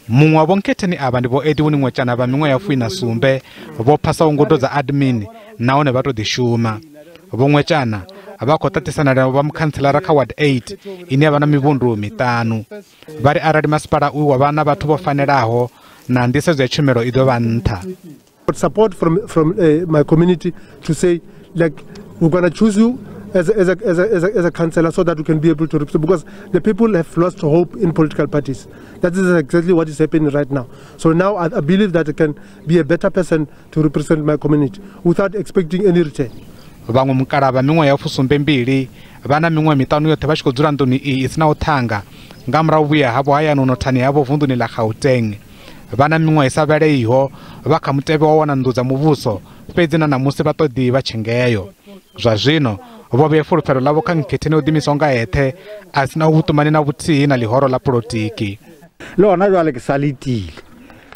Muṅwe wa vhonkhetheni avha ndi Vho Edwin Ngwetshana vha miṅwaha ya 17 vho phasaho ngudo dza admin nahone vha tou ḓi shuma. Vho Ngwetshana vha khou ṱaṱisana na vha mukhantselara kha Ward 8 ine ya vha na mivhundu miṱanu. Vha ri arali masipala uyu wa vha na vhathu vho fanelaho na nḓisedzo ya tshumelo i ḓo vha nṱha. Support from my community to say, like, we're going to choose you as a councillor so that we can be able to represent, because the people have lost hope in political parties. That is exactly what is happening right now. So now I believe that I can be a better person to represent my community without expecting any return. Vhaṅwe mukala vha miṅwaha ya 72 vha na miṅwaha miṱanu yoṱhe vha tshi khou dzula nḓuni iyi i sinaho ṱhanga nga murahu vhuya havho hayani u nothani havho vunḓuni ḽa Gauteng. Vha na miṅwaha i sa vhaleiho vha kha mutevhe wa wana nnḓu dza muvhuso, fhedzi na ṋamusi vha ṱoḓi vha tshengeyo. Zwa zwino vho vhea fulufhelo ḽavho kha nkhetheni o ḓiimisaho nga eṱhe a sina vhuṱumani na vhuthihi na ḽihoro ḽa polotiki.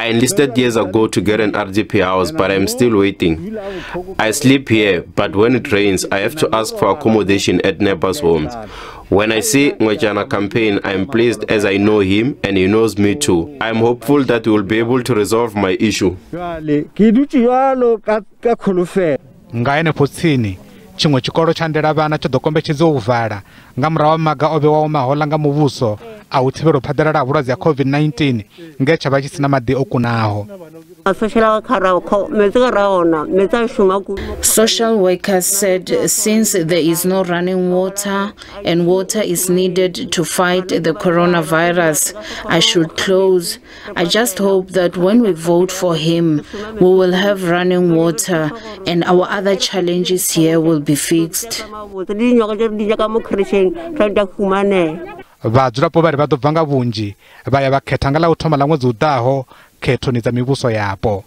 I enlisted years ago to get an RDP house, but I'm still waiting. I sleep here, but when it rains, I have to ask for accommodation at neighbors' homes. When I see Ngwetshana campaign, I'm pleased as I know him and he knows me too. I'm hopeful that we will be able to resolve my issue. Nga henefho tsini, tshiṅwe tshikolo tsha ndela vhana tsho ḓo kombetshedziwa u vala nga murahu ha maga o vhewaho mahoḽa nga muvhuso a u thivhela u phaḓalala ha vhulwadze ha COVID-19 nge tsha vha tshi sina maḓi o kunaho. Social workers said since there is no running water and water is needed to fight the coronavirus, I should close. I just hope that when we vote for him, we will have running water and our other challenges here will be fixed. Vhadzulapo vha ri vha ḓo bva nga vhunzhi vha ya vha khetha nga ḽa u thoma ḽa ṅwedzi u ḓaho khethoni dza mivhuso yapo.